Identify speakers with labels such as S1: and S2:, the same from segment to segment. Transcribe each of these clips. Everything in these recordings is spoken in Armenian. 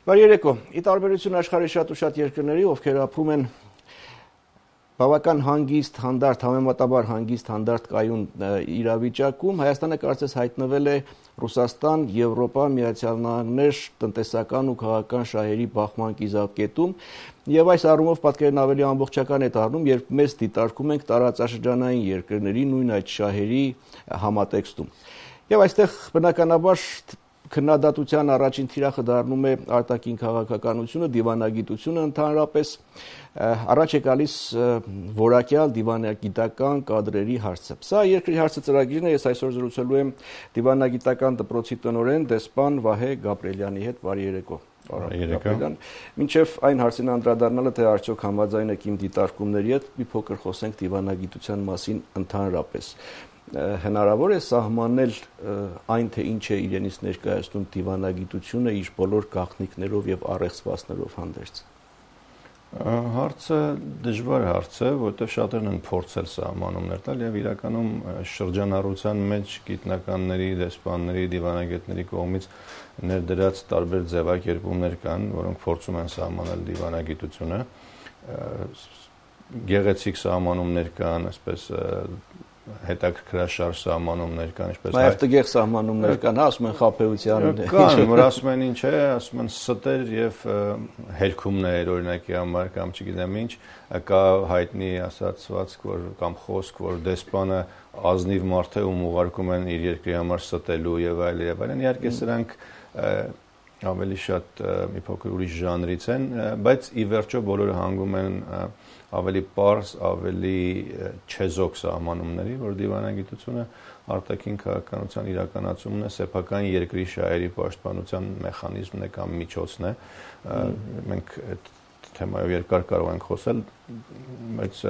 S1: Բարի երեկո։ Ի տարբերություն աշխարհի շատ ու շատ երկրների, ովքեր ապրում են բավական հանգիստ, հանդարտ, համեմատաբար հանգիստ, հանդարտ կայուն իրավիճակում, Հայաստանը կարծես հայտնվել է Ռուսաստան, Եվրոպա, Միացյալ Նահանգներ տնտեսական ու քաղաքական շահերի բախման կիզակետում, եւ այս առումով պատկերն ավելի ամբողջական է դառնում, երբ մեզ դիտարկում ենք տարածաշրջանային երկրների նույն այդ շահերի համատեքստում։ Եվ այստեղ բնականաբար քննադատության առաջին թիրախը դառնում է արտաքին քաղաքականությունը, դիվանագիտությունը ընդհանրապես, առաջ է գալիս որակյալ դիվանագիտական կադրերի հարցը։ Սա երկրի հարցը ծրագիրն է, ես այսօր զրուցելու եմ դիվանագիտական դպրոցի տնօրեն դեսպան Վահե Գաբրելյանի հետ։ Բարի երեկո։ Մինչև այն հարցին անդրադառնալը, թե արդյոք համաձայն եք իմ դիտարկումների հետ, մի փոքր խոսենք դիվանագիտության մասին ընդհանրապես։ Հնարավոր է սահմանել այն, թե ինչ է իրենից ներկայացնում դիվանագիտությունը իր բոլոր գաղտնիքներով եւ առեղծվածքներով հանդերձ։
S2: Հարցը դժվար հարց է, որովհետեւ շատերն են փորձել սահմանումներ տալ եւ իրականում շրջանառության մեջ գիտնականների, դեսպանների, դիվանագետների կողմից ներդրած տարբեր ձևակերպումներ կան, որոնք փորձում են սահմանել դիվանագիտությունը։ Գեղեցիկ սահմանումներ կան, այսպես հետաքրքրաշարժ սահմանումներ կան, ինչպես
S1: նաև տգեղ սահմանումներ կան, ասում են խաբեության
S2: կան, որ ասում են ինչ է, ասում են ստեր եւ հերքումներ օրինակի համար կամ չգիտեմ ինչ, կա հայտնի ասացվածք, որ կամ խոսք, որ դեսպանը ազնիվ մարդ է, ում ուղարկում են իր երկրի համար ստելու եւ այլն, իհարկե սրանք ավելի շատ մի փոքր ուրիշ ժանրից են, բայց ի վերջո բոլորը հանգում են ավելի պարզ, ավելի չեզոք սահմանումների, որ դիվանագիտությունը արտաքին քաղաքականության իրականացումն է, սեփական երկրի շահերի պաշտպանության մեխանիզմն է կամ միջոցն է։ Մենք այդ թեմայով երկար կարող ենք խոսել, բայց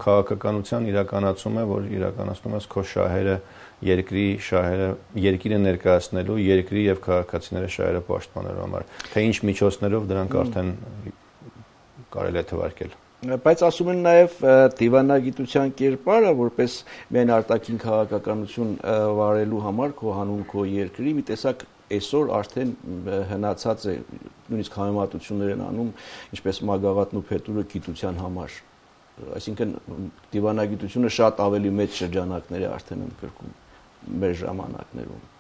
S2: քաղաքականության իրականացում է, որ իրականացնում ես քո շահերը, երկրի շահերը, երկիրը ներկայացնելու, երկրի եւ քաղաքացիների շահերը պաշտպանելու համար։ Թե ինչ միջոցներով դրանք արդեն կարելի է թվարկել։
S1: Բայց ասում են նաև դիվանագիտության կերպարը, որպես միայն արտաքին քաղաքականություն վարելու համար քո հանուն քո երկրի, մի տեսակ այսօր արդեն հնացած է, նույնիսկ համեմատություններ են անում, ինչպես մագաղատն ու փետուրը գիտության համար։ Այսինքն դիվանագիտությունը շատ ավելի մեծ շրջանակներ է արդեն ընդգրկում մեր ժամանակներում։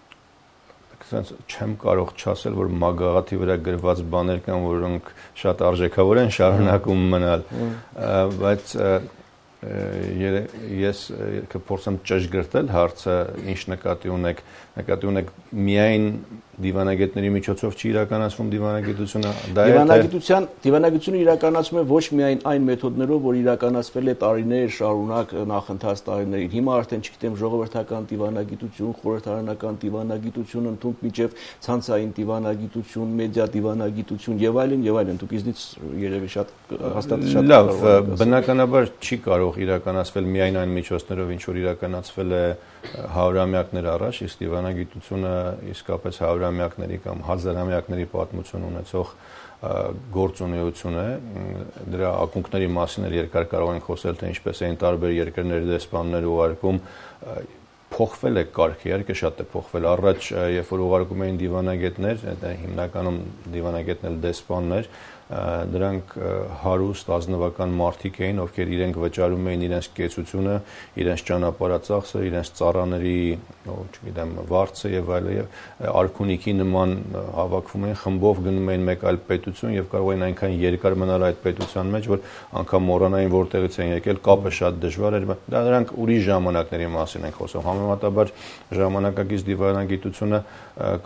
S2: Չեմ կարող չասել, որ մագաղաթի վրա գրված բաներ կան, որոնք շատ արժեքավոր են շարունակում մնալ, բայց ես կփորձեմ ճշգրտել հարցը, ինչ նկատի ունեք միայն դիվանագետների միջոցով չի իրականացվում դիվանագիտությունը,
S1: դիվանագիտությունը իրականացվում է ոչ միայն այն մեթոդներով, որ իրականացվել է տարիներ շարունակ նախընթաց տարիներին։ Հիմա արդեն չգիտեմ ժողովրդական դիվանագիտություն, խորհրդարանական դիվանագիտություն, ընդհանուր միջև ցանցային դիվանագիտություն, մեդիա դիվանագիտություն եւ այլն, դուք իզնից երևի շատ հաստատ շատ
S2: լավ, բնականաբար չի կարող իրականացվել միայն այն միջոցներով, ինչ որ իրականացվել է հարյուրամյակներ առաջ, իսկ դիվանագիտությունը իսկապես հարյուրամյակների կամ հազարամյակների պատմություն ունեցող գործունեություն է, դրա ակունքների մասին երկար կարող ենք խոսել, թե ինչպես էին տարբեր երկրների դեսպաններ ուղարկում, փոխվել է կարգը, իհարկե շատ է փոխվել, առաջ երբ որ ուղարկում էին դիվանագետներ, հիմնականում դիվանագետներ դեսպաններ, դրանք հարուստ ազնվական մարդիկ էին, ովքեր իրենք վճարում էին իրենց կեցությունը, իրենց ճանապարհածախսը, իրենց ծառաների, չգիտեմ, վարձը եւ այլն, արքունիքի նման հավաքվում էին, խմբով գնում էին մեկ այլ պետություն եւ կարող էին այնքան երկար մնալ այդ պետության մեջ, որ անգամ մոռանային որտեղից են եկել, կապը շատ դժվար էր, դա դրանք ուրիշ ժամանակների մասին ենք խոսում, համեմատաբար ժամանակակից դիվանագիտությունը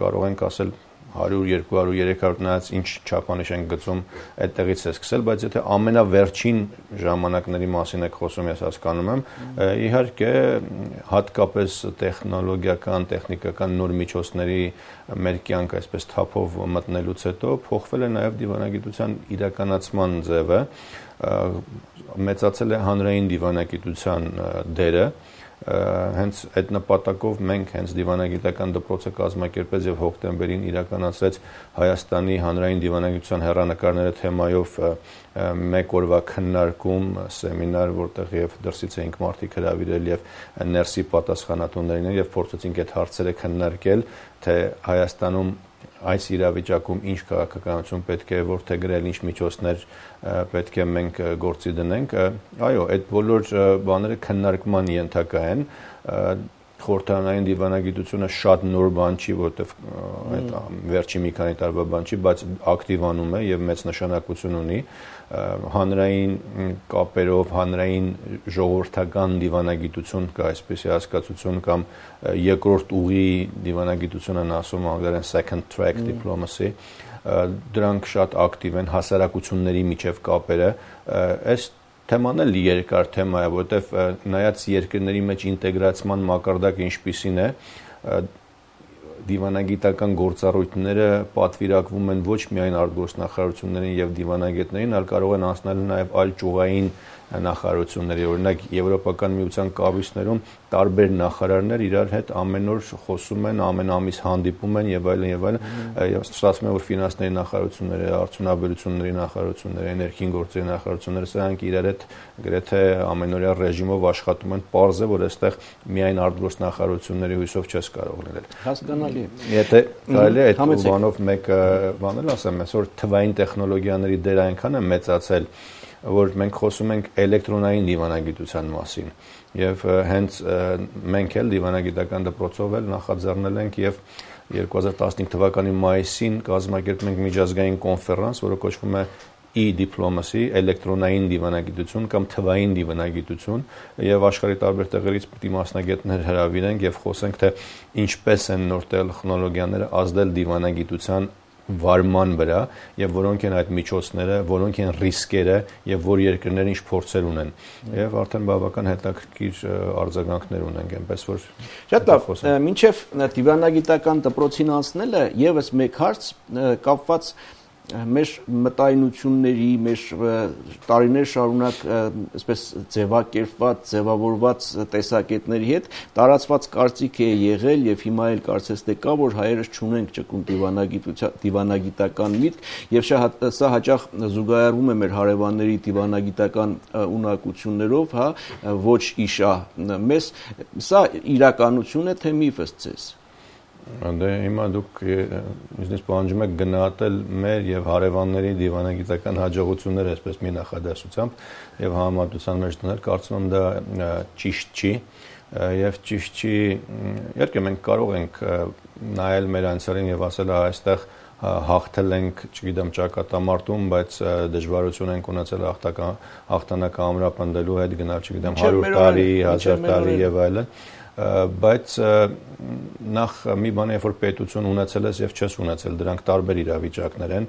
S2: կարող ենք ասել 100, 200, 300 նայած ինչ չափանիշ են գծում այդտեղից է սկսել, բայց եթե ամենավերջին ժամանակների մասին եք խոսում, ես հասկանում եմ, իհարկե հատկապես տեխնոլոգիական, տեխնիկական նոր միջոցների մեր կյանք այսպես թափով մտնելուց հետո փոխվել է նաև դիվանագիտության իրականացման ձևը, մեծացել է հանրային դիվանագիտության դերը, հենց այդ նպատակով մենք հենց դիվանագիտական դպրոցը կազմակերպեց եւ հոկտեմբերին իրականացրեց Հայաստանի հանրային դիվանագիտության հեռանկարները թեմայով մեկ օրվա քննարկում, սեմինար, որտեղ եւ դրսից էինք մարդիկ հրավիրել եւ ներսի պատասխանատուներին եւ փորձեցինք այդ հարցերը քննարկել, թե Հայաստանում այս իրավիճակում ինչ քաղաքականություն պետք է որդեգրել, ինչ միջոցներ պետք է մենք գործի դնենք, այո, այդ բոլոր բաները քննարկման ենթակա են, խորհրդարանային դիվանագիտությունը շատ նոր բան չի, որտեվ այդ վերջի մի քանի տարվա բան չի, բայց ակտիվանում է եւ մեծ նշանակություն ունի հանրային կապերով, հանրային ժողովրդական դիվանագիտություն կա այսպիսի հասկացություն կամ երկրորդ ուղի դիվանագիտություն են ասում անգլերեն second track diplomacy, դրանք շատ ակտիվ են հասարակությունների միջև կապերը, այս թեման էլ երկար թեմա է, որտեվ նայած երկրների մեջ ինտեգրացման մակարդակը ինչպիսին է, դիվանագիտական գործառույթները պատվիրակվում են ոչ միայն արտգործնախարարություններին եւ դիվանագետներին, այլ կարող են անցնել նաեւ այլ ճյուղային նախարարությունների, օրինակ Եվրոպական միության կառույցներում տարբեր նախարարներ իրար հետ ամեն օր խոսում են, ամեն ամիս հանդիպում են եւ այլն եւ այլն, ստացվում է որ ֆինանսների նախարարությունները, արդյունաբերությունների նախարարությունները, էներգիային գործերի նախարարությունները սրանք իրար հետ գրեթե ամենօրյա ռեժիմով աշխատում են, պարզ է որ այստեղ միայն արտգործնախարարությունների հույսով չես կարող լինել։
S1: Հասկանալի է։
S2: Եթե կարելի է այդ բանով մեկ բան էլ ասեմ, այսօր թվային տեխնոլոգիաների դերը այնքան է մեծացել, որ մենք խոսում ենք էլեկտրոնային դիվանագիտության մասին եւ հենց մենք էլ դիվանագիտական դպրոցով էլ նախաձեռնել ենք եւ 2015 թվականի մայիսին կազմակերպում ենք միջազգային կոնֆերանս, որը կոչվում է e-diplomacy, էլեկտրոնային դիվանագիտություն կամ թվային դիվանագիտություն եւ աշխարհի տարբեր տեղերից պիտի մասնագետներ հրավիրենք եւ խոսենք թե ինչպես են նոր տեխնոլոգիաները ազդել դիվանագիտության վարման վրա եւ որոնք են այդ միջոցները, որոնք են ռիսկերը եւ որ երկրները ինչ փորձեր ունեն եւ արդեն բավական հետաքրքիր արձագանքներ ունենք, այնպես որ
S1: շատ լավ, մինչեւ դիվանագիտական դպրոցին անցնելը եւս մեկ հարց կապված մեր մտայնությունների, մեր տարիներ շարունակ այսպես ձևակերպված, ձևավորված տեսակետների հետ տարածված կարծիք է եղել եւ հիմա էլ կարծես թե կա, որ հայերս չունենք ճկուն դիվանագիտական միտք եւ սա հաճախ զուգահեռվում է մեր հարևանների դիվանագիտական ունակություններով, հա, ոչ իշա մեզ, սա իրականություն է թե միֆ է ձեզ։
S2: Դե հիմա դուք ինձնից պահանջում եք գնահատել մեր եւ հարևանների դիվանագիտական հաջողությունները այսպես մի նախադասությամբ եւ համեմատության մեջ դնել, կարծում եմ դա ճիշտ չի եւ ճիշտ չի, իհարկե մենք կարող ենք նայել մեր անցյալին եւ ասել այստեղ հաղթել ենք, չգիտեմ, ճակատամարտում, բայց դժվարություն ենք ունեցել հաղթանակը ամրապնդելու հետ գնալ, չգիտեմ, 100 տարի, 1000 տարի եւ այլն, բայց նախ մի բան է, որ պետություն ունեցել ես եւ չես ունեցել, դրանք տարբեր իրավիճակներ են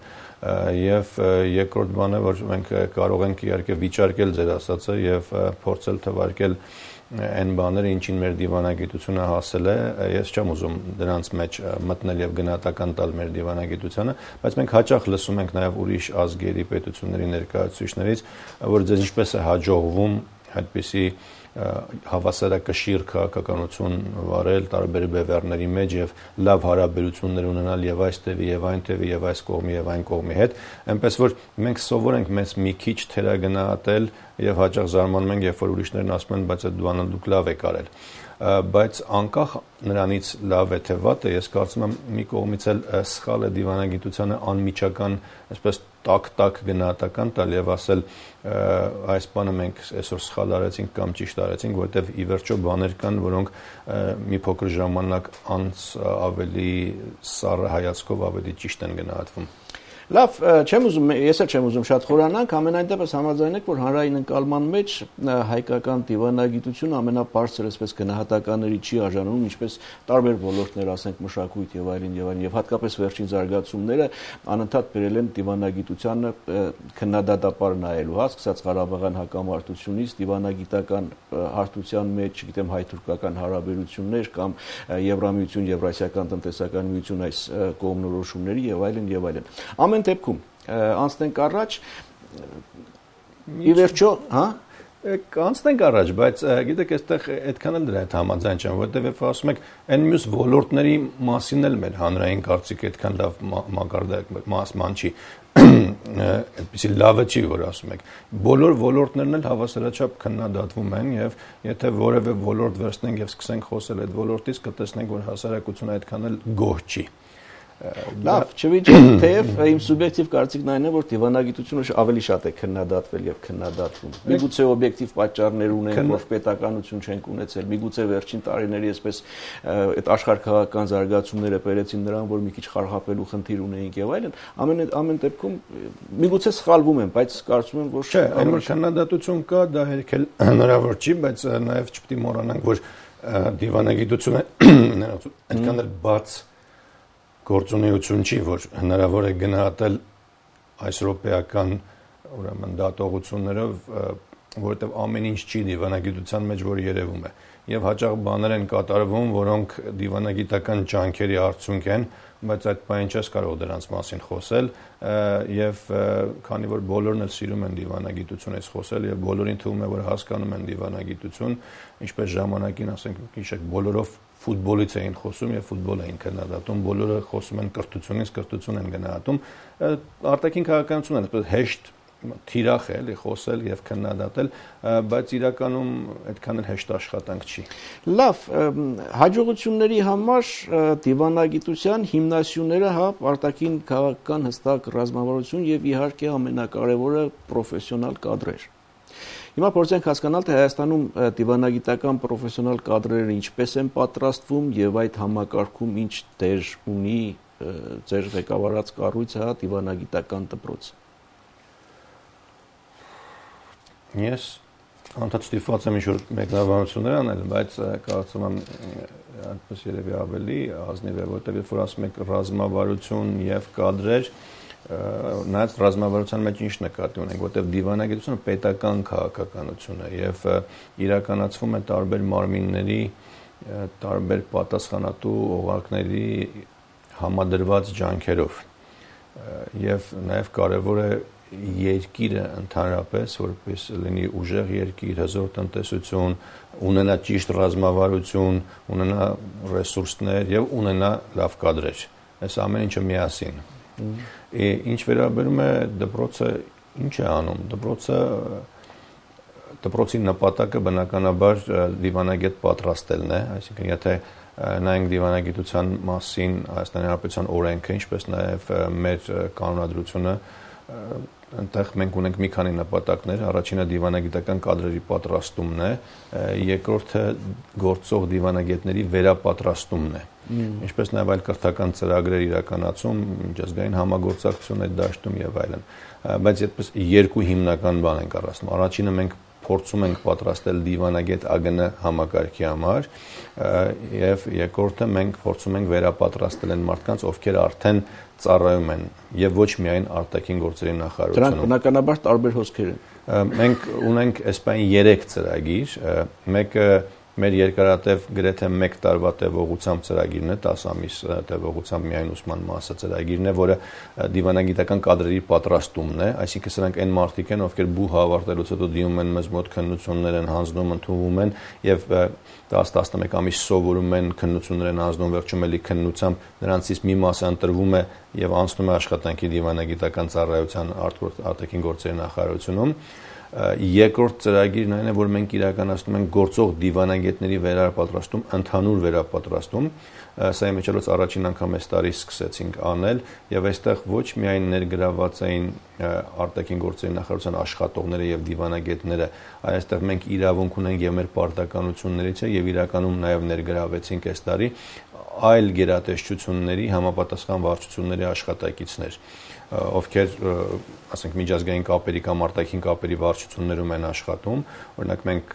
S2: եւ երկրորդ բանը, որ մենք կարող ենք իհարկե վիճարկել ձեր ասածը եւ փորձել թվարկել այն բաները, ինչին մեր դիվանագիտությունը հասել է, ես չեմ ուզում դրանց մեջ մտնել եւ գնահատական տալ մեր դիվանագիտությանը, բայց մենք հաճախ լսում ենք նաեւ ուրիշ ազգերի պետությունների ներկայացուցիչներից, որ ձեզ ինչպես է հաջողվում այդպիսի հավասարակշիռ քաղաքականություն վարել տարբեր բևեռների մեջ եւ լավ հարաբերություններ ունենալ եւ այս տևի եւ այն տևի եւ այս կողմի եւ այն կողմի հետ, այնպես որ մենք սովոր ենք մեզ մի քիչ թերագնահատել եւ հաճախ զարմանում ենք, երբ որ ուրիշներն ասում են, բայց այդ բանը դուք լավ եք արել, բայց անկախ նրանից լավ է թե վատ է, ես կարծում եմ մի կողմից էլ սխալ է դիվանագիտությանը անմիջական, այսպես տակ գնահատական տալ եւ ասել այս բանը մենք այսօր սխալ արեցինք կամ ճիշտ արեցինք, որովհետեւ ի վերջո բաներ կան, որոնք մի փոքր ժամանակ անց ավելի սառը հայացքով ավելի ճիշտ են գնահատվում։
S1: Լավ, ես էլ չեմ ուզում շատ խորանանք, ամենայն դեպս համաձայն եք, որ հանրային ընկալման մեջ հայկական դիվանագիտությունը ամենաբարձր այսպես գնահատականների չի արժանանում, ինչպես տարբեր ոլորտներ, ասենք մշակույթ եւ այլն եւ հատկապես վերջին զարգացումները անընդհատ բերել են դիվանագիտությանը քննադատապար նայելու, հա, սկսած Ղարաբաղյան հակամարտությունից դիվանագիտական հարթության մեջ, չգիտեմ, հայ-թուրքական հարաբերություններ կամ Եվրամիություն, Եվրասիական տնտեսական միություն այս կողմնորոշումների եւ այլն եւ այլն։ Ամեն դեպքում անցնենք առաջ, ի վերջո, հա,
S2: անցնենք առաջ, բայց գիտեք, այստեղ այդքան էլ դրա հետ համաձայն չեմ, որովհետև երբ ասում եք, այն մյուս ոլորտների մասին էլ մեր հանրային կարծիքը այդքան լավ մակարդակման չի, այդպիսի լավը չի, որ ասում եք։ Բոլոր ոլորտներն էլ հավասարաչափ քննադատվում են եւ եթե որևէ ոլորտ վերցնենք եւ սկսենք խոսել այդ ոլորտից, կտեսնենք, որ հասարակությունը այդքան էլ գոհ չի։
S1: Լավ, չվիճ, թեև իմ սուբյեկտիվ կարծիքն այն է, որ դիվանագիտությունը ավելի շատ է քննադատվել եւ քննադատվում։ Միգուցե օբյեկտիվ պատճառներ ունեն, որ պետականություն չենք ունեցել, միգուցե վերջին տարիների այսպես այդ աշխարհքաղաքական զարգացումները բերեցին նրան, որ մի քիչ խարխափելու խնդիր ունեինք եւ այլն։ Ամեն դեպքում միգուցե սխալվում եմ, բայց կարծում եմ, որ
S2: չէ, այնօր քննադատություն կա, դա հերքել հնարավոր չի, բայց նաեւ չպետք է մոռանանք, որ դիվանագիտությունը այդքան էլ բաց գործունեություն չի, որ հնարավոր է գնահատել այս ռոպեական ուրեմն դատողություններով, որովհետև ամեն ինչ չի դիվանագիտության մեջ, որ երևում է։ Եվ հաճախ բաներ են կատարվում, որոնք դիվանագիտական ջանքերի արդյունք են, բայց այդ բանը չես կարող դրանց մասին խոսել, եւ քանի որ բոլորն էլ սիրում են դիվանագիտությունից խոսել եւ բոլորին թվում է, որ հասկանում են դիվանագիտություն, ինչպես ժամանակին, ասենք, հիշեք, բոլորով ֆուտբոլից էին խոսում եւ ֆուտբոլ էին քննադատում, բոլորը խոսում են կրթությունից, կրթություն են գնահատում, արտաքին քաղաքականությունն է, այսպես հեշտ թիրախ է էլի խոսել եւ քննադատել, բայց իրականում այդքան էլ հեշտ աշխատանք չի։
S1: Լավ, հաջողությունների համար դիվանագիտության հիմնասյուները արտաքին քաղաքական հստակ ռազմավարություն եւ իհարկե ամենակարևորը պրոֆեսիոնալ կադրեր։ Հիմա փորձենք հասկանալ, թե Հայաստանում դիվանագիտական պրոֆեսիոնալ կադրերը ինչպես են պատրաստվում եւ այդ համակարգում ինչ դեր ունի ձեր ղեկավարած կառույցը, դիվանագիտական դպրոցը։
S2: Ես անդադ ստիպված եմ ինչ-որ մեկնաբանություններ անել, բայց կարծում եմ այդպես երևի ավելի ազնիվ է, որտեղ երբ որ ասում եք ռազմավարություն եւ կադրեր, նայած ռազմավարության մեջ ինչ նկատի ունենք, որտեղ դիվանագիտությունը պետական քաղաքականություն է եւ իրականացվում է տարբեր մարմինների, տարբեր պատասխանատու օղակների համադրված ջանքերով եւ նաեւ կարեւոր է երկիրը ընդհանրապես, որպես լինի ուժեղ երկիր, հզոր տնտեսություն, ունենա ճիշտ ռազմավարություն, ունենա ռեսուրսներ եւ ունենա լավ կադրեր։ Այս ամեն ինչը միասին։ Ինչ վերաբերում է դպրոցը, ինչ է անում։ Դպրոցի նպատակը բնականաբար դիվանագետ պատրաստելն է, այսինքն եթե նայենք դիվանագիտության մասին Հայաստանի Հանրապետության օրենքը, ինչպես նաեւ մեր կանոնադրությունը, այնտեղ մենք ունենք մի քանի նպատակներ, առաջինը դիվանագիտական կադրերի պատրաստումն է, երկրորդը գործող դիվանագետների վերապատրաստումն է, ինչպես նաև այլ կրթական ծրագրեր իրականացում, միջազգային համագործակցություն այդ դաշտում եւ այլն, բայց այդպես երկու հիմնական բան ենք առանձնում, առաջինը մենք փորձում ենք պատրաստել դիվանագետ ԱԳՆ համակարգի համար եւ երկրորդը մենք փորձում ենք վերապատրաստել այն մարդկանց, ովքեր արդեն ծառայում են եւ ոչ միայն արտաքին գործերի նախարարությունում։
S1: Դրանք բնականաբար տարբեր հոսքեր են։
S2: Մենք ունենք այսպայն 3 ծրագիր, մեկը մեր երկարատև գրեթե 1 տարվա տևողությամբ ծրագիրն է, 10 ամիս տևողությամբ միայն ուսման մասը ծրագիրն է, որը դիվանագիտական կադրերի պատրաստումն է, այսինքն սրանք այն մարդիկ են, ովքեր բուհ ավարտելուց հետո դիմում են մեզ մոտ քննություններ են հանձնում, ընդունվում են եւ 10-11 ամիս սովորում են, քննություններ են հանձնում, վերջում էլի քննությամբ նրանցից մի մասը ընտրվում է եւ անցնում է աշխատանքի դիվանագիտական ծառայության արտաքին գործերի նախարարությունում։ Երկրորդ ծրագիրն այն է, որ մենք իրականացնում ենք գործող դիվանագետների վերապատրաստում, ընդհանուր վերապատրաստում, սա իմիջիայլոց առաջին անգամ այս տարի սկսեցինք անել եւ այստեղ ոչ միայն ներգրաված էին արտաքին գործերի նախարարության աշխատողները եւ դիվանագետները, այստեղ մենք իրավունք ունենք եւ մեր պարտականություններից է եւ իրականում նաեւ ներգրավեցինք այս տարի այլ գերատեսչությունների համապատասխան վարչությունների աշխատակիցներ, ովքեր ասենք միջազգային կապերի կամ արտաքին կապերի վարչություններում են աշխատում, օրինակ մենք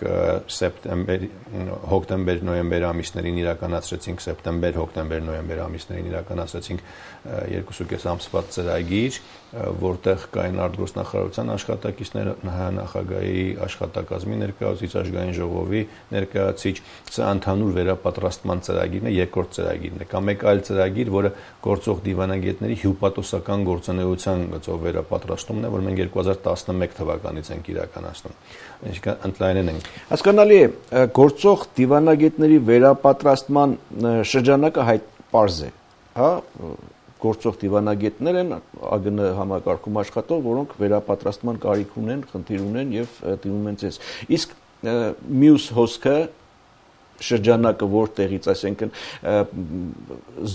S2: հոկտեմբեր, նոյեմբեր ամիսներին իրականացրեցինք սեպտեմբեր, հոկտեմբեր, նոյեմբեր ամիսներին իրականացրեցինք 2.5 ամսվա ծրագիր, որտեղ կային արտգործնախարարության աշխատակիցներ, նախագահի աշխատակազմի ներկայացուցիչ, ազգային ժողովի ներկայացուցիչ, սա ընդհանուր վերապատրաստման ծրագիրն է, երկրորդ ծրագիրն է, կամ մեկ այլ ծրագիր, որը գործող դիվանագետների հյուպատոսական գործունեության գծով վերապատրաստումն է, որ մենք 2011 թվականից ենք իրականացնում։ Այսինքն ընդլայնել ենք։
S1: Հասկանալի է, գործող դիվանագետների վերապատրաստման շրջանակը հայտ պարզ է, հա, գործող դիվանագետներ են ԱԳՆ համակարգում աշխատող, որոնք վերապատրաստման կարիք ունեն, խնդիր ունեն եւ դիմում են ձեզ։ Իսկ մյուս հոսքը շրջանակը որտեղից, այսինքն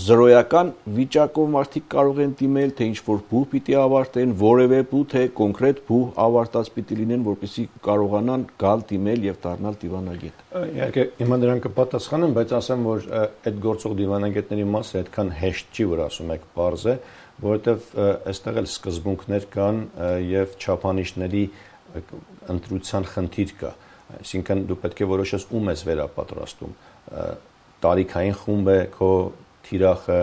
S1: զրոյական վիճակով մարդիկ կարող են դիմել, թե ինչ-որ փուլ պիտի ավարտեն, որևէ փուլ, թե կոնկրետ փուլ ավարտած պիտի լինեն, որպեսզի կարողանան գալ դիմել եւ դառնալ դիվանագետ։
S2: Իհարկե, հիմա դրան կպատասխանեմ, բայց ասեմ, որ այդ գործող դիվանագետների մասը այդքան հեշտ չի, որ ասում եք, պարզ է, որովհետեւ այստեղ էլ սկզբունքներ կան եւ չափանիշների ընտրության խնդիր կա։ Այսինքն դու պետք է որոշես ում ես վերապատրաստում, տարիքային խումբ է քո թիրախը,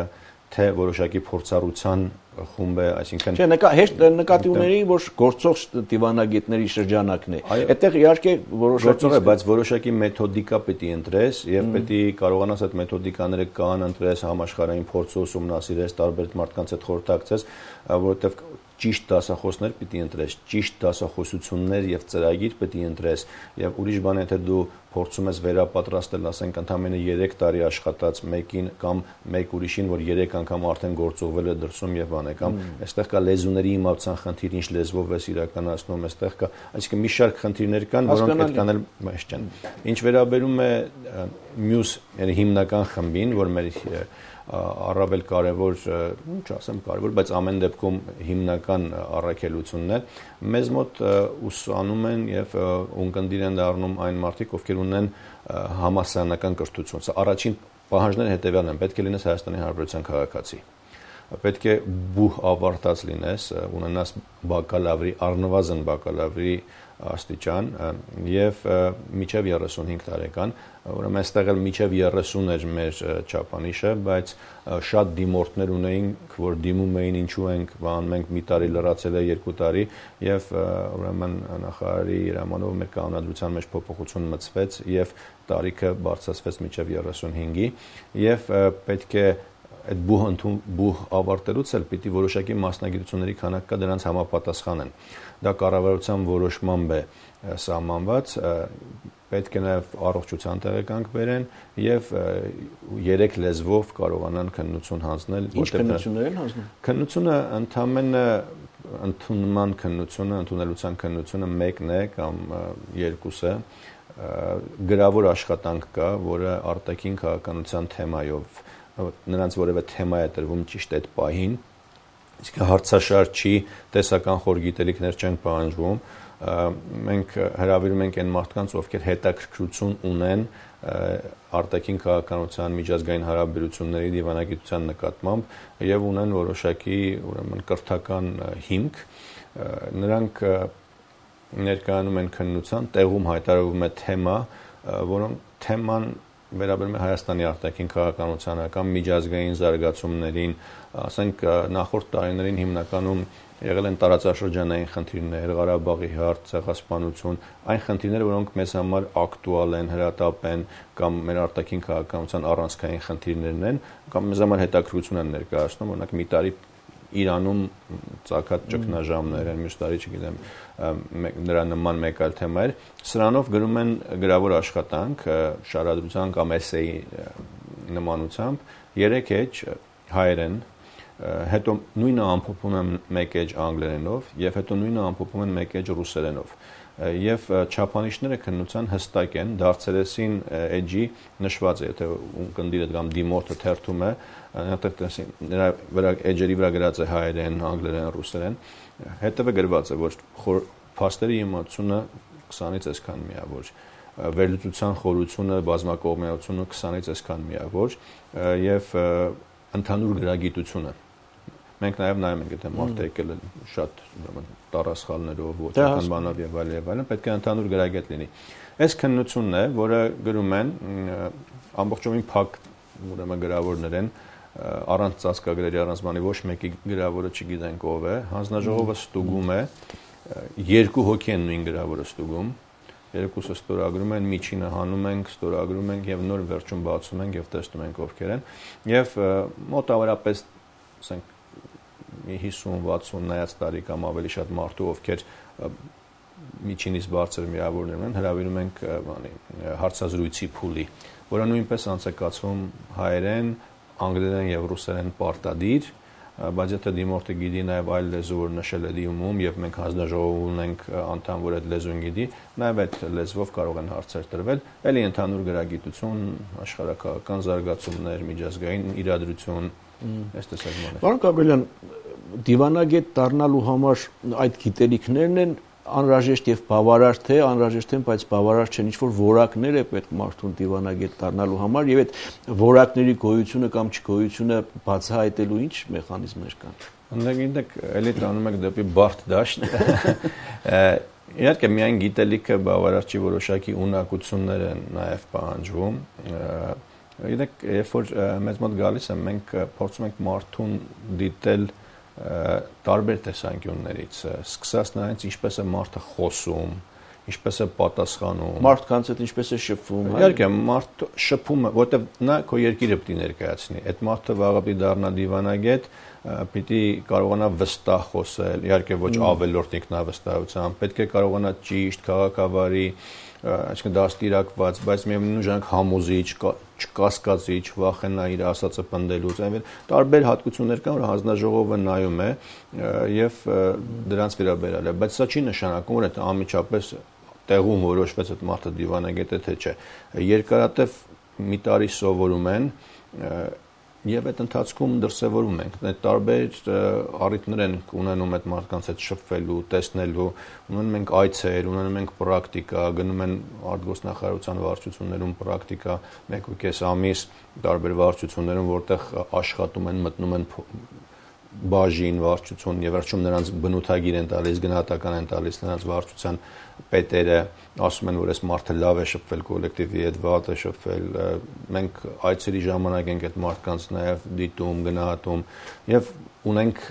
S2: թե որոշակի փորձառության խումբ է, այսինքն
S1: Չէ, հեշտ նկատի ունեի, որ գործող դիվանագետների շրջանակն է։ Այդտեղ իհարկե
S2: գործող է, բայց որոշակի մեթոդիկա պետք է ընտրես եւ պետք է կարողանաս այդ մեթոդիկաները կան ընտրես, համաշխարհային փորձը ուսումնասիրես, տարբեր մարդկանց հետ խորհրդակցես, որովհետեւ ճիշտ դասախոսներ պիտի ընտրես, ճիշտ դասախոսություններ եւ ծրագիր պիտի ընտրես եւ ուրիշ բան է թե դու փորձում ես վերապատրաստել, ասենք ընդամենը 3 տարի աշխատած մեկին կամ մեկ ուրիշին, որ 3 անգամ արդեն գործողվել է դրսում եւ բան է, կամ այստեղ կա լեզուների իմացան խնդիր, ինչ լեզվով ես իրականացնում, այստեղ կա, այսինքն մի շարք խնդիրներ կան, որոնք պետք է անել մեծ չեն։ Ինչ վերաբերում է մյուս հիմնական խմբին, որ մեր առավել կարևոր, չասեմ կարևոր, բայց ամեն դեպքում հիմնական առաքելությունն է, մեզ մոտ ուսանում են եւ ունկնդիր են դառնում այն մարդիկ, ովքեր ունեն համալսարանական կրթություն։ Սա առաջին պահանջները հետեւյալն են, պետք է լինես Հայաստանի Հանրապետության քաղաքացի։ Պետք է բուհ ավարտած լինես, ունենաս բակալավրի, առնվազն բակալավրի աստիճան եւ միջև 35 տարեկան, ուրեմն այստեղ էլ միջև 30 էր մեր չափանիշը, բայց շատ դիմորդներ ունեինք, որ դիմում էին ինչու ենք, մենք մի տարի լրացել է 2 տարի եւ ուրեմն նախարարի հրամանով մեր կանոնադրության մեջ փոփոխություն մտցվեց եւ տարիքը բարձրացվեց միջև 35-ի եւ պետք է այդ բուհ ավարտելուց էլ պիտի որոշակի մասնագիտությունների քանակ կա դրանց համապատասխանեն։ Դա կառավարության որոշմամբ է սահմանված, պետք է նաև առողջության տեղեկանք բերեն եւ 3 լեզվով կարողանան քննություն հանձնել։
S1: Ինչ քննություններ են հանձնում։
S2: Քննությունը ընդհանրապես ընդունման քննությունը, ընդունելության քննությունը մեկն է կամ երկուսը, գրավոր աշխատանք կա, որը արտաքին քաղաքականության թեմայով նրանց որևէ թեմա է տրվում ճիշտ այդ պահին, իսկ հարցաշար չի, տեսական խոր գիտելիքներ չեն պահանջվում, մենք հրավիրում ենք այն մարդկանց, ովքեր հետաքրքրություն ունեն արտաքին քաղաքականության, միջազգային հարաբերությունների, դիվանագիտության նկատմամբ եւ ունեն որոշակի ուրեմն կրթական հիմք, նրանք ներկայանում են քննության, տեղում հայտարարվում է թեմա, որոնք թեման վերաբերում է Հայաստանի արտաքին քաղաքականության կամ միջազգային զարգացումներին, ասենք նախորդ տարիներին հիմնականում եղել են տարածաշրջանային խնդիրներ, Ղարաբաղի հարց, ցեղասպանություն, այն խնդիրները, որոնք մեզ համար ակտուալ են, հրատապ են կամ մեր արտաքին քաղաքականության առանցքային խնդիրներն են, կամ մեզ համար հետաքրքրություն են ներկայացնում, օրինակ մի տարի Իրանում ցակած ճգնաժամներ են, մյուս տարի չգիտեմ, նրա նման մեկ այլ թեմա էր, սրանով գրում են գրավոր աշխատանք, շարադրության կամ էսեի նմանությամբ, 3 էջ հայերեն, հետո նույնը ամփոփում են 1 էջ անգլերենով եւ հետո նույնը ամփոփում են 1 էջ ռուսերենով։ Եվ չափանիշները քննության հստակ են, դարձերեսին էջի նշված է, եթե ունկնդիրը կամ դիմորդը թերթում է, նրա վրա էջերի վրա գրած է հայերեն, անգլերեն, ռուսերեն, հետևը գրված է, որ փաստերի իմացությունը 20-ից այսքան միավոր, վերլուծության խորությունը, բազմակողմեությունը 20-ից այսքան միավոր եւ ընդհանուր գրագիտությունը։ Մենք նաև նայում ենք, եթե մարդը եկել է շատ տարասխալներով, ոչական բանով եւ այլն, պետք է ընդհանուր գրագետ լինի։ Այս քննությունն է, որը գրում են ամբողջովին փակ ուրեմն գրավորներ են, առանց ծածկագրերի, առանց բանի, ոչ մեկի գրավորը չգիտենք ով է, հանձնաժողովը ստուգում է, 2 հոգի են նույն գրավորը ստուգում, երկուսը ստորագրում են, միջինը հանում ենք, ստորագրում ենք եւ նոր վերջում բացում ենք եւ տեսնում ենք ովքեր են եւ մոտավորապես ասենք 50-60 նայած տարի կամ ավելի շատ մարդու, ովքեր միջինից բարձր միավորներ ունեն, հրավիրում ենք հարցազրույցի փուլի, որը նույնպես անցկացվում հայերեն, անգլերեն եւ ռուսերեն պարտադիր, բայց եթե դիմորդը գիտի նաև այլ լեզու, որ նշել է դիմում եւ մենք հանձնաժողով ունենք անդամ, որ այդ լեզուն գիտի, նաև այդ լեզվով կարող են հարցեր տրվել, ելի ընդհանուր գրագիտություն, աշխարհակաղակական զարգացումներ, միջազգային իրադրություն, այս տեսակներ։
S1: Պարոն Կաբելյան, դիվանագետ դառնալու համար այդ գիտելիքներն են անհրաժեշտ եւ բավարար թե անհրաժեշտ են, բայց բավարար չեն, ինչ որ որակներ է պետք մարդուն դիվանագետ դառնալու համար եւ այդ որակների գոյությունը կամ չգոյությունը բացահայտելու ինչ մեխանիզմներ կան։
S2: Անդերգինտեք էլի տանում եք դեպի բարդ դաշտ։ Իհարկե միայն գիտելիքը բավարար չի, որոշակի ունակություններ են նաեւ պահանջվում։ Գիտեք, երբ որ մեզ մոտ գալիս են, մենք փորձում ենք մարդուն դիտել տարբեր տեսանկյուններից, սկսած նրանից ինչպես է մարդը խոսում, ինչպես է պատասխանում,
S1: մարդկանց հետ ինչպես է շփվում։
S2: Իհարկե, մարդը շփում է, որտեղ նա քո երկիրը պիտի ներկայացնի։ Այդ մարդը վաղը պիտի դառնա դիվանագետ, պիտի կարողանա վստահ խոսել, իհարկե ոչ ավելորդ ինքնավստահությամբ, պետք է կարողանա ճիշտ, քաղաքավարի, այսինքն դաստիարակված, բայց միևնույն ժամանակ համոզիչ, չկասկածիչ, չվախենա իր ասածը պնդելուց, այնպես տարբեր հատկություններ կան, որ հանձնաժողովը նայում է եւ դրանց վերաբերյալ է, բայց սա չի նշանակում, որ այդ անմիջապես տեղում որոշվեց այդ մարդը դիվանագետ է թե չէ։ Երկարատև մի տարի սովորում են եւ այդ ընթացքում դրսեւորում ենք այդ տարբեր առիթներ են ունենում այդ մարդկանց հետ շփվելու, տեսնելու, ունենում ենք այցեր, ունենում ենք պրակտիկա, գնում են արտգործնախարարության վարչություններում պրակտիկա 1.5 ամիս տարբեր վարչություններում, որտեղ աշխատում են, մտնում են բաժին վարչություն եւ վերջում նրանց բնութագիր են տալիս, գնահատական են տալիս նրանց վարչության պետերը, ասում են, որ այս մարդը լավ է շփվել կոլեկտիվի հետ, վատ է շփվել, մենք այցերի ժամանակ ենք այդ մարդկանց նաեւ դիտում, գնահատում եւ ունենք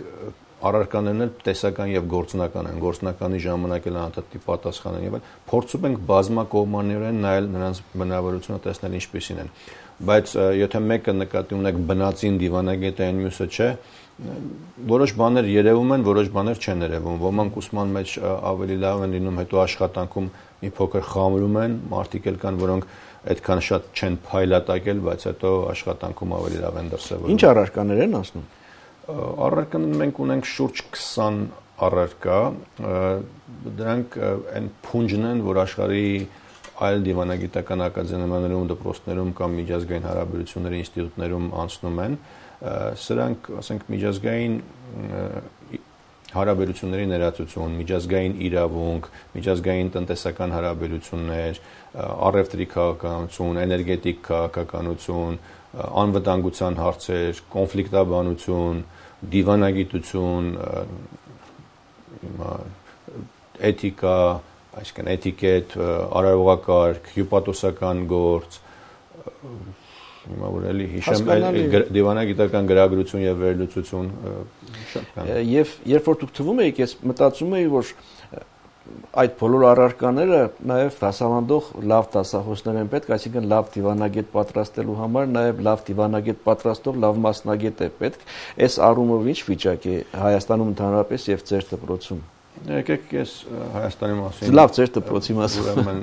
S2: առարկաներն էլ տեսական եւ գործնական են, գործնականի ժամանակ էլ անդադի պատասխան են եւ փորձում ենք բազմակողմանիորեն նայել նրանց բնավորությունը, տեսնել ինչպիսին են, բայց եթե մեկը նկատի ունեք բնածին դիվանագետ է, այն մյուսը չէ, որոշ բաներ երևում են, որոշ բաներ չեն երևում, ոմանք ուսման մեջ ավելի լավ են լինում, հետո աշխատանքում մի փոքր խամրում են, մարդիկ էլ կան, որոնք այդքան շատ չեն փայլատակել, բայց հետո աշխատանքում ավելի լավ են դրսևորվում։
S1: Ինչ առարկաներ են ասնում։
S2: Առարկաներ մենք ունենք շուրջ 20 առարկա, դրանք այն փունջն են, որ աշխարհի այլ դիվանագիտական ակադեմիաներում, դպրոցներում կամ միջազգային հարաբերությունների ինստիտուտներում անցնում են, սրանք, ասենք, միջազգային հարաբերությունների ներածություն, միջազգային իրավունք, միջազգային տնտեսական հարաբերություններ, առևտրի քաղաքականություն, էներգետիկ քաղաքականություն, անվտանգության հարցեր, կոնֆլիկտաբանություն, դիվանագիտություն, էթիկա, այսինքն էթիկետ, արարողակարգ, հյուպատոսական գործ, հիմա որ էլի հիշեմ դիվանագիտական գրագրություն եւ վերլուծություն շատ կան։
S1: Եվ երբ որ դուք թվում եք, ես մտածում եի, որ այդ բոլոր առարկաները նաեւ դասավանդող լավ դասախոսներ են պետք, այսինքն լավ դիվանագետ պատրաստելու համար նաեւ լավ դիվանագետ պատրաստող լավ մասնագետ է պետք։ Այս առումով ինչ վիճակ է Հայաստանում ընդհանրապես եւ ձեր դպրոցում։
S2: Եկեք ես Հայաստանի մասին
S1: լավ ձեր դպրոցի մասին
S2: ուրեմն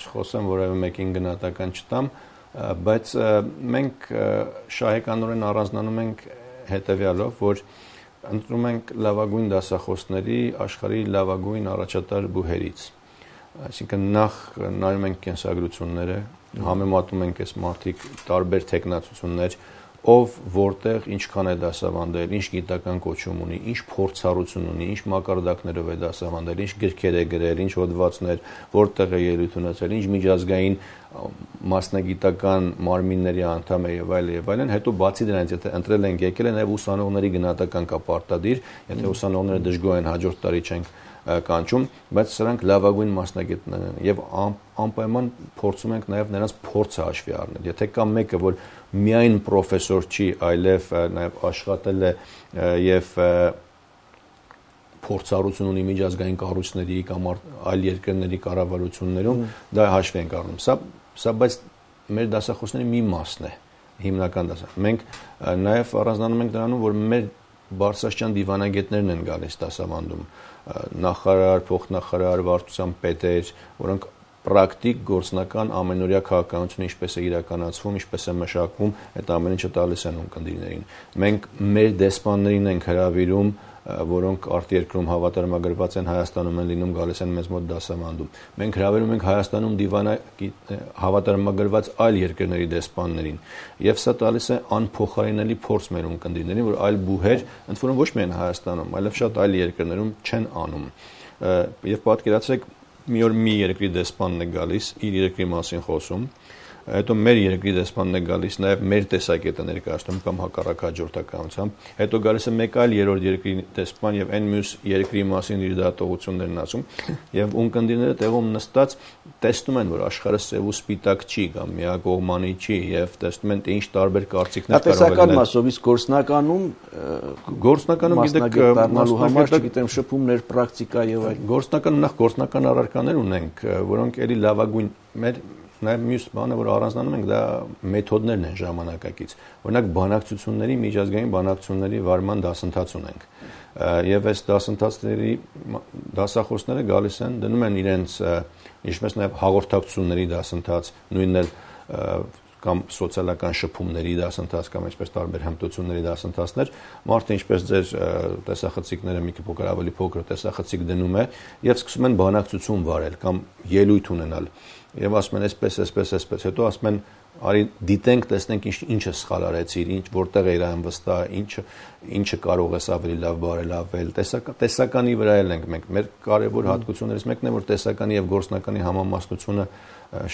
S2: չխոսեմ, որևէ մեկին գնահատական չտամ, բայց մենք շահեկանորեն առանձնանում ենք հետեւյալով, որ ընտրում ենք լավագույն դասախոսների աշխարհի լավագույն առաջատար բուհերից։ Այսինքն նախ նայում ենք կենսագրությունները, համեմատում ենք այս մարդիկ տարբեր տեխնացություններ, ով որտեղ ինչքան է դասավանդել, ինչ գիտական կոչում ունի, ինչ փորձառություն ունի, ինչ մակարդակներով է դասավանդել, ինչ գրքեր է գրել, ինչ հոդվածներ, որտեղ է ելույթ ունեցել, ինչ միջազգային մասնագիտական մարմինների անդամ է եւ այլն, հետո բացի դրանից եթե ընտրել ենք եկել է նաեւ ուսանողների գնահատական կա պարտադիր, եթե ուսանողները դժգոհ են հաջորդ տարի չենք կանչում, բայց սրանք լավագույն մասնագետներ են եւ անպայման փորձում ենք նաեւ նրանց փորձը հաշվի առնել։ Եթե կա մեկը, որ միայն պրոֆեսոր չի, այլև նաեւ աշխատել է եւ փորձառություն ունի միջազգային կառույցների կամ այլ երկրների կառավարություններում, դա հաշվի ենք առնում։ Սա բայց մեր դասախոսների մի մասն է, հիմնական դասախոս։ Մենք նաեւ առանձնանում ենք դրանում, որ մեր բարձրաստիճան դիվանագետներն են գալիս դասավանդում, նախարար, փոխնախարար, վարչության պետեր, որոնք պրակտիկ գործնական ամենօրյա քաղաքականությունը ինչպես է իրականացվում, ինչպես է մշակվում, այդ ամեն ինչը տալիս են ունկնդիրներին։ Մենք մեր դեսպաններին ենք հրավիրում, որոնք արտերկրում հավատարմագրված են, Հայաստանում են լինում, գալիս են մեզ մոտ դասավանդում։ Մենք հրավիրում ենք Հայաստանում հավատարմագրված այլ երկրների դեսպաններին, եւ սա տալիս է անփոխարինելի փորձ մեր ունկնդիրներին, որ այլ բուհեր, ընդ որում ոչ միայն Հայաստանում, այլև շատ այլ երկրներում չեն անում։ Եվ պատկերացրեք, մի օր մի երկրի դեսպանն է գալիս, իր երկրի մասին խոսում, հետո մեր երկրի դեսպանն է գալիս, նաև մեր տեսակետը ներկայացնում կամ հակառակ հաջորդականությամբ, հետո գալիս է մեկ այլ երրորդ երկրի դեսպան եւ այն մյուս երկրի մասին իր դատողություններն ասում, եւ ունկնդիրները տեղում նստած տեսնում են, որ աշխարհը սև ու սպիտակ չի կամ միակողմանի չի եւ տեսնում են, թե ինչ տարբեր կարծիքներ կարող են
S1: լինել։ Տեսական մասով իսկ գործնականում
S2: գիտեք,
S1: մասնագետ, չգիտեմ, շփումներ, պրակտիկա եւ այլ։
S2: Գործնականում նախ գործնական առարկաներ ունենք, որոնք էլի լավագույն մեր Նաև մյուս բանը, որ առանձնանում ենք, դա մեթոդներն են ժամանակակից։ Օրինակ բանակցությունների, միջազգային բանակցությունների վարման դասընթաց ունենք։ Եվ այս դասընթացների դասախոսները գալիս են, դնում են իրենց, ինչպես նաև հաղորդակցությունների դասընթաց, նույնն էլ կամ սոցիալական շփումների դասընթաց կամ այսպես տարբեր հմտությունների դասընթացներ, մարդը ինչպես ձեր տեսախցիկները մի փոքր ավելի փոքր տեսախցիկ դնում է եւ սկսում են բանակցություն վարել կամ ելույթ ունենալ։ Եվ ասում են այսպես, հետո ասում են արի դիտենք, տեսնենք ինչը սխալ արեցիր, որտեղ էր այն վստահ, ինչը կարող ես ավելի լավ բարելավել։ Տեսականի վրա ենք մենք։ Մեր կարևոր հատկություններից մեկն է, որ տեսականի եւ գործնականի համամասնությունը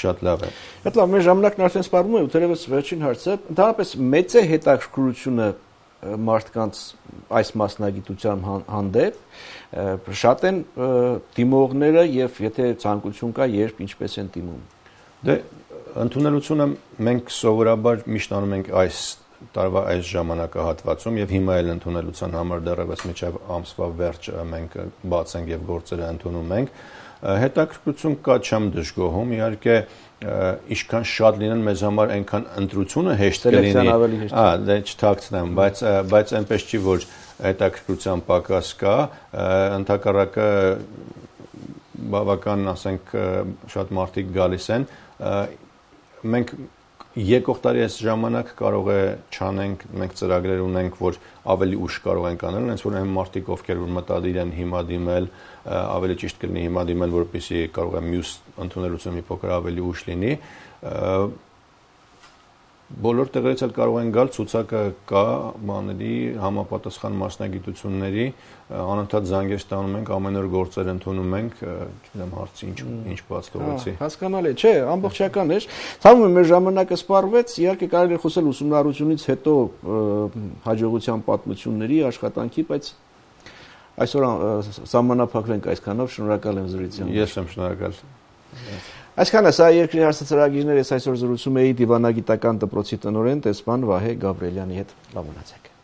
S2: շատ լավ է։
S1: Այդ լավ, մեր ժամանակն արդեն սպառվում է, ու թերևս վերջին հարցը, ընդհանրապես մեծ է հետաքրքրությունը մարդկանց այս մասնագիտության հանդեպ, շատ են դիմողները եւ եթե ցանկություն կա, երբ ինչպես են դիմում։
S2: Դե ընդունելությունը մենք սովորաբար միշտ անում ենք այս տարվա այս ժամանակահատվածում եւ հիմա էլ ընդունելության համար դեռևս միջև ամսվա վերջ մենք բաց ենք եւ գործերը ընդունում ենք։ Հետաքրքրություն կա, չեմ դժգոհում, իհարկե ինչքան շատ լինեն մեզ համար այնքան ընտրությունը հեշտ կլինի։ Դե չթաքցնեմ, բայց այնպես չի, որ հետաքրքրության պակաս կա, ընդհակառակը բավական, ասենք, շատ մարդիկ գալիս են։ Մենք եկող տարի այս ժամանակ կարող է չանենք, մենք ծրագրեր ունենք, որ ավելի ուշ կարող ենք անել, հենց որ այն մարդիկ, ովքեր որ մտադիր են հիմա դիմել, ավելի ճիշտ կլինի հիմա դիմել, որպեսզի կարող է մյուս ընդունելությունը մի փոքր ավելի ուշ լինի։ Բոլոր տեղերից էլ կարող են գալ, ցուցակը կա, բաների համապատասխան մասնագիտությունների, անընդհատ զանգեր ստանում ենք, ամեն օր գործեր ընդունում ենք, չգիտեմ հարցի ինչ բաց թողեցի։
S1: Հասկանալի է, չէ, ամբողջական էր։ Ցավում եմ մեր ժամանակը սպառվեց, իհարկե կարելի է խոսել ուսումնառությունից հետո հաջողության պատմությունների, աշխատանքի, բայց այսօր սահմանափակվենք այսքանով, շնորհակալ եմ զրույցին։
S2: Ես եմ շնորհակալ։
S1: Այսքանը սա երկրի հարցը ծրագիրներ, ես այսօր զրուցում էի դիվանագիտական դպրոցի տնօրեն տեսփան Վահե Գաբրելյանի հետ։ Լավ մնացեք։